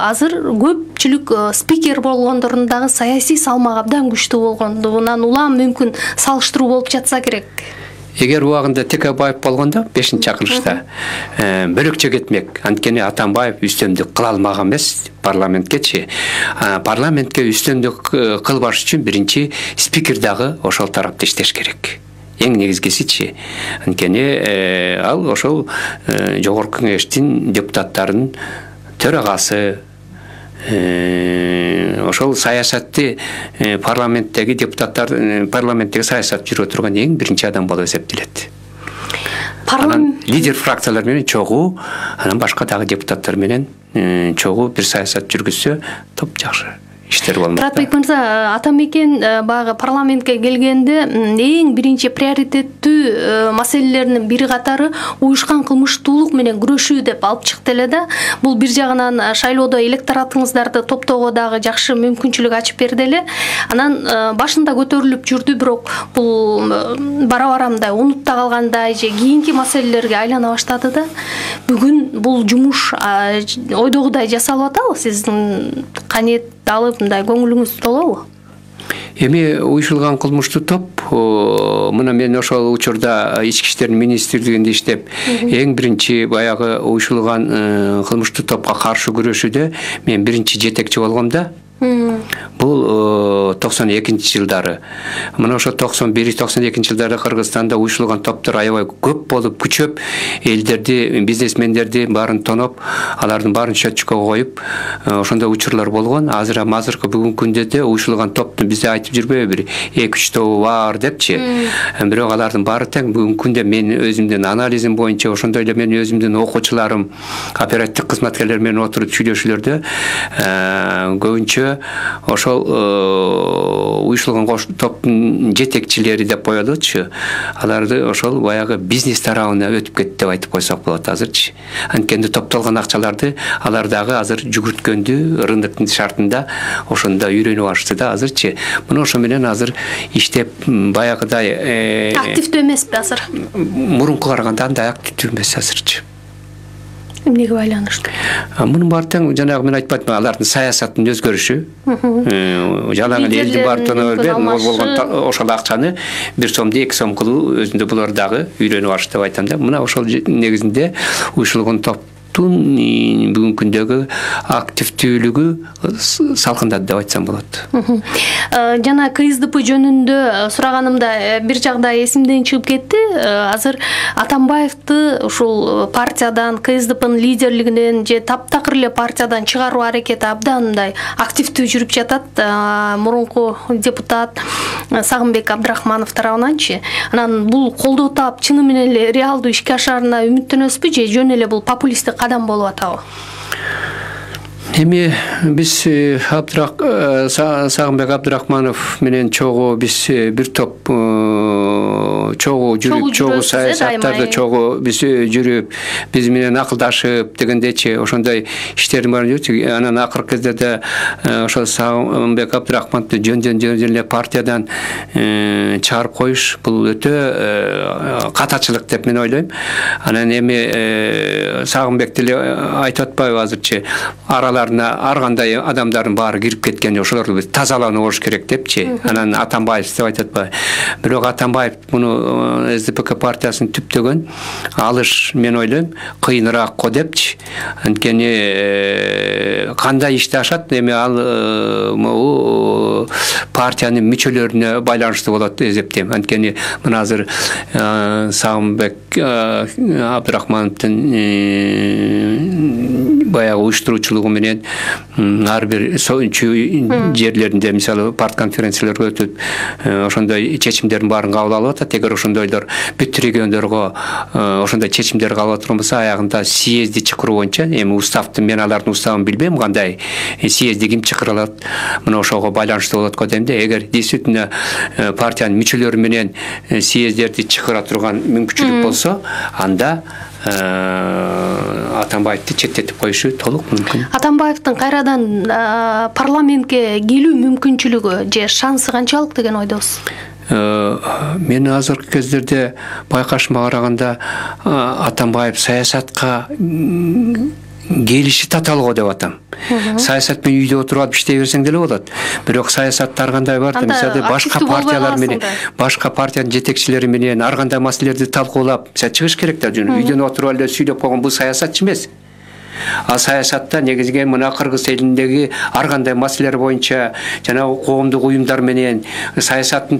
[SPEAKER 1] азыр көпчүлүк спикер болгондордун дагы саясий салмагы абдан күчтүү болгондугунан улам мүмкүн салыштыруу болуп жатса керек.
[SPEAKER 2] Эгер убагында Текебаев болгондо бешинчи чакырылышта бөлөкчө кетмек. Анткени Атамбаев үстөмдүк кыла алмаган эмес парламенткечи. Парламентке үстөмдүк кылбаш үчүн биринчи спикер дагы ошол тарапта иштеш керек. Эң негизгисичи. Анткени ал ошол жогорку кеңештин депутаттарынын төрагасы, ошол саясатты парламенттеги депутаттар парламенттеги саясат жүргүзө турган эң биринчи адам болуп эсептелет. Анан лидер фракциялар менен чогуу, анан башка дагы депутаттар менен чогуу бир саясат жүргүзсө топ жакшы иштер болмок.
[SPEAKER 1] Туратбек мырза, атамекен багы парламентке келгенде эң биринчи приоритеттүү маселелеринин бири катары уюшкан кылмыштуулук менен күрөшүү деп алып чыкты эле да. Бул бир жагынан шайлоодо электоратыңыздарды топтоого дагы жакшы мүмкүнчүлүк ачып берди эле. Анан башында көтөрүлүп жүрдү, бирок бул бара-бара мындай унутта калгандай же кийинки маселелерге айлана баштады да. Бүгүн бул жумуш ойдогудай жасалып атабы? Сиздин канет алып мындай көңүлүңүз толобу?
[SPEAKER 2] Эми уюшулган кылмыштуу топ мына мен ошол учурда ички иштер министрлигинде иштеп, эң биринчи баягы уюшулган кылмыштуу топко каршы күрөшүүдө мен биринчи жетекчи болгом да. Бул токсон экинчи жылдары. Мына ошо токсон бир токсон экинчи жылдары Кыргызстанда уюшулган топтор аябай көп болуп, күчөп, элдерди, бизнесмендерди баарын тоноп, алардын баарын счетчикке коюп, ошондой учурлар болгон. Азыр азыркы бүгүнкү күндө да уюшулган топту бизде айтып жүрбөйбү, эки үч тобу бар депчи. Бирок алардын баары тең бүгүнкү күндө мен өзүмдүн анализим боюнча, ошондой эле мен өзүмдүн окуучуларым, оперативдик кызматкерлер менен отуруп сүйлөшүүлөрдө көбүнчө ошол уюшулган топтун жетекчилери деп коелучу, аларды ошол баягы бизнес тарабына өтүп кетти деп айтып койсок болот азырчы. Анткени топтолгон акчаларды алар дагы азыр жүгүрткөндү рыноктун шартында ошондо үйрөнүп алышты да азырчы. Мына ошо менен азыр иштеп баягыдай
[SPEAKER 1] активдүү эмеспи азыр?
[SPEAKER 2] Мурункуга караганда андай активдүү эмес азырчы.
[SPEAKER 1] Эмнеге байланыштуу?
[SPEAKER 2] Мунун баары тең жанагы мен айтпадымбы, алардын саясаттын өзгөрүшү. Жанагы элдин баары болгон ошол акчаны бир сомду эки сом кылуу өзүндө булар дагы үйрөнүп алышты деп айтам да. Мына ошол негизинде уюшулган топ бүгүнкү күндөгү активдүүлүгү салкындады деп айтсам болот.
[SPEAKER 1] Жана КСДП жөнүндө сураганымда бир жагдай эсимден чыгып кетти. Азыр Атамбаевди ушул партиядан, КСДПнын лидерлигинен же таптакыр эле партиядан чыгаруу аракети абдан мындай активдүү жүрүп жатат. Мурунку депутат Сагынбек Абдрахманов тарабынанчы. Анан бул колдоо таап чыны менен эле реалдуу ишке ашаарына үмүттөнөсүзбү же жөн эле бул популисттик кадам болуп атабы?
[SPEAKER 2] Эми биз Сагынбек Абдрахманов менен чогуу биз бир топ чогуу жүрүп, чогуу саясаттарды чогуу биз жүрүп, биз менен акылдашып дегендечи ошондой иштердин баарын жүрчү. Анан акыркы кездерде ошол Сагынбек Абдрахмановду жөн-жөн эле партиядан чыгарып коюш бул өтө катачылык деп мен ойлойм. Анан эми Сагынбекти эле айтып атпайбы азырчы, араларына ар кандай адамдардын баары кирип кеткен, ошолорду биз тазалануу болуш керек депчи. Анан Атамбаев деп айтып атпайбы. Бирок Атамбаев муну СДПК партиясын түптөгөн алыш мен ойлойм кыйыныраак го депчи. Анткени кандай ишти ашат, эми ал могу партиянын мүчөлөрүнө байланыштуу болот деп эсептейм. Анткени мына азыр Сагынбек Абдрахмановдун баягы уюштуруучулугу менен ар бир жерлеринде мисалы парт конференцияларга өтүп ошондой чечимдердин баарын кабыл алып атат. Эгер ошондойлор бүт региондорго ошондой чечимдер кабыл алып турган болсо, аягында съезди чакыруу боюнча, эми уставды мен алардын уставын билбейм, кандай съезди ким чакыра алат, мына ошого байланыштуу болот го дейм да. Эгер действительно партиянын мүчөлөрү менен съездерди чакыра турган мүмкүнчүлүк болсо, анда Атамбаевди четтетип коюшу толук мүмкүн.
[SPEAKER 1] Атамбаевдин кайрадан парламентке келүү мүмкүнчүлүгү же шансы канчалык деген ойдосуз?
[SPEAKER 2] Мен азыркы кездерде байкашыма караганда Атамбаев саясатка келиши татаал го деп атам. Саясат менен үйдө отуруп алып иштей берсең деле болот. Бирок саясатта ар кандай бар да, мисалы башка партиялар менен, башка партиянын жетекчилери менен ар кандай маселелерди талкуулап, чыгыш керек да. Үйдөн отуруп эле сүйлөп койгон бул саясатчы эмес. А саясатта негизги мына Кыргыз элиндеги ар кандай маселелер боюнча жана коомдук уюмдар менен саясаттын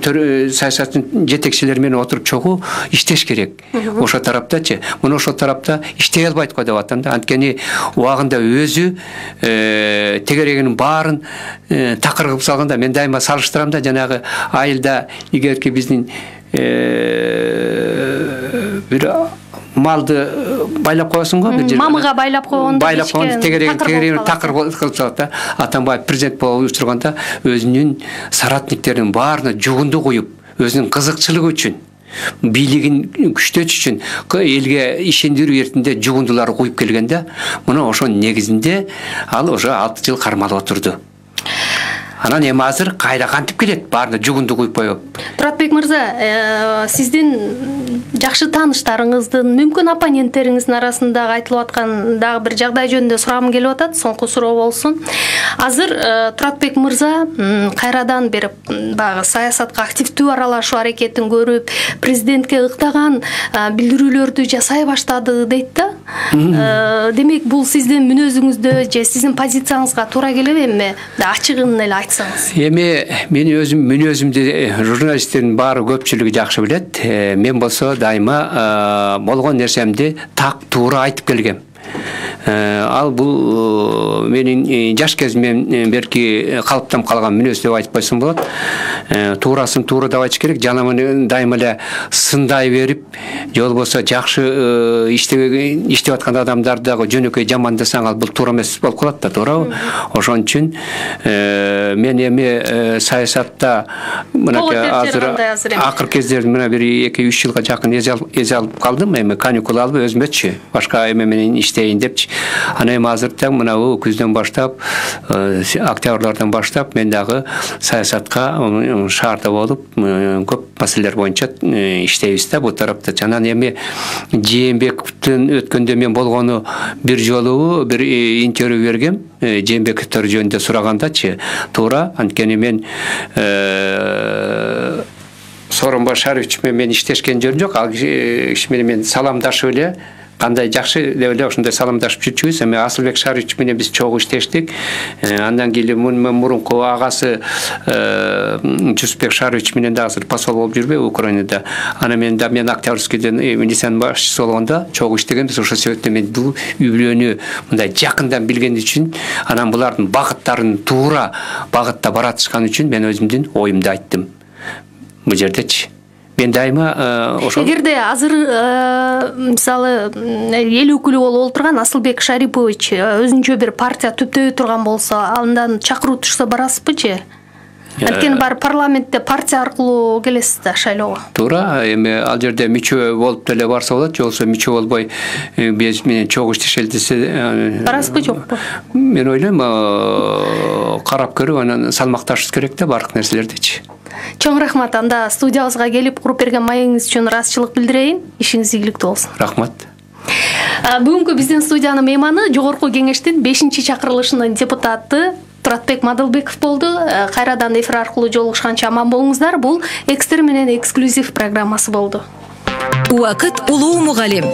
[SPEAKER 2] саясаттын жетекчилери менен отуруп чогуу иштеш керек. Ошо тараптачы, мына ошол тарапта иштей албайт го деп атам да. Анткени убагында өзү тегерегинин баарын такыр кылып салганда, мен дайыма салыштырам да, жанагы айылда эгерки биздин бир малды байлап коесуң го, бир жерге
[SPEAKER 1] мамыга байлап койгондо,
[SPEAKER 2] байлап койгондо тегерегин такыр кылып салат да. Атамбаев президент болуп учурганда өзүнүн соратниктеринин баарына жугунду куюп, өзүнүн кызыкчылыгы үчүн, бийлигин күчтөтүш үчүн элге ишендирүү эртинде жугундуларды куюп келген да. Мына ошонун негизинде ал уже алты жыл кармалып отурду. Анан эми азыр кайра кантип келет, баарына жугунду куюп коюп.
[SPEAKER 1] Туратбек мырза, сиздин жакшы тааныштарыңыздын, мүмкүн оппоненттериңиздин арасында айтылып аткан дагы бир жагдай жөнүндө сурагым келип атат, соңку суроо болсун. Азыр Туратбек мырза кайрадан бир баягы саясатка активдүү аралашуу аракетин көрүп, президентке ыктаган билдирүүлөрдү жасай баштады дейт да. Демек, бул сиздин мүнөзүңүздө же сиздин позицияңызга туура келеби эмне? Ачыгын эле айтсаңыз.
[SPEAKER 2] Эми мен өзүм мүнөзүмдү журналисттердин баары көпчүлүгү жакшы билет. Мен болсо дайыма болгон нерсемди так туура айтып келгем. Ал бул менин жаш кезимден берки калыптанып калган мүнөз деп айтып койсом болот. Туурасын туура деп айтыш керек. Жана муну дайыма эле сындай берип, же болбосо жакшы иштеп аткан адамдарды дагы жөнөкөй жамандасаң, ал бул туура эмес болуп калат да, туурабы? Ошон үчүн мен эми саясатта мынакей азыр акыр кездерде мына бир эки үч жылга жакын эзе алып калдым. Эми каникул алып өзүмөчү башка эме менен иштейин депчи. Ана эми азыр тең мына күздөн баштап, октябрлардан баштап мен дагы саясатка шаарда болуп, көп маселелер боюнча иштейбиз да бул тарапта. Жана эми Жээнбековдун өткөндө мен болгону бир жолу бир интервью бергем. Жээнбековдор жөнүндө сурагандачы, туура, анткени мен Сооронбай Шарипович менен иштешкен жөнү жок. Ал киши менен мен саламдашып эле кандай жакшы деп эле ошондой саламдашып жүрчүбүз. Эми Асылбек Шарипович менен биз чогуу иштештик. Андан кийин мурунку агасы Жусупбек Шарипович менен дагы посол болуп жүрбөйбү Украинада. Ана мен да мен Октябрьскийден милициянын башчысы болгондо чогуу иштегенбиз. Ошол себептен мен бул үй-бүлөнү мындай жакындан билген үчүн, анан булардын багыттарын туура багытта баратышкан үчүн мен өзүмдүн оюмду айттым бул жердечи. Мен дайыма ошол.
[SPEAKER 1] Эгерде азыр мисалы эл өкүлү болуп отурган Асылбек Шарипович өзүнчө бир партия түптөй турган болсо, андан чакыруу түшсө барасызбы же? Анткени бар парламентте партия аркылуу келесиз да шайлоого.
[SPEAKER 2] Туура, эми ал жерде мүчө болуп деле барса болот, же болбосо мүчө болбой биз менен чогуу иштешели десе
[SPEAKER 1] барасызбы жокпу?
[SPEAKER 2] Мен ойлойм, карап көрүп анан салмакташыбыз керек да бардык нерселердичи.
[SPEAKER 1] Чоң рахмат. Анда студиябызга келип куруп берген маегиңиз үчүн ыраазычылык билдирейин. Ишиңиз ийгиликтүү болсун.
[SPEAKER 2] Рахмат.
[SPEAKER 1] Бүгүнкү биздин студиянын мейманы Жогорку Кеңештин бешинчи чакырылышынын депутаты Туратбек Мадылбеков болду. Кайрадан эфир аркылуу жолугушканча аман болуңуздар. Бул Экстер менен эксклюзив программасы болду.
[SPEAKER 3] Убакыт улуу мугалим.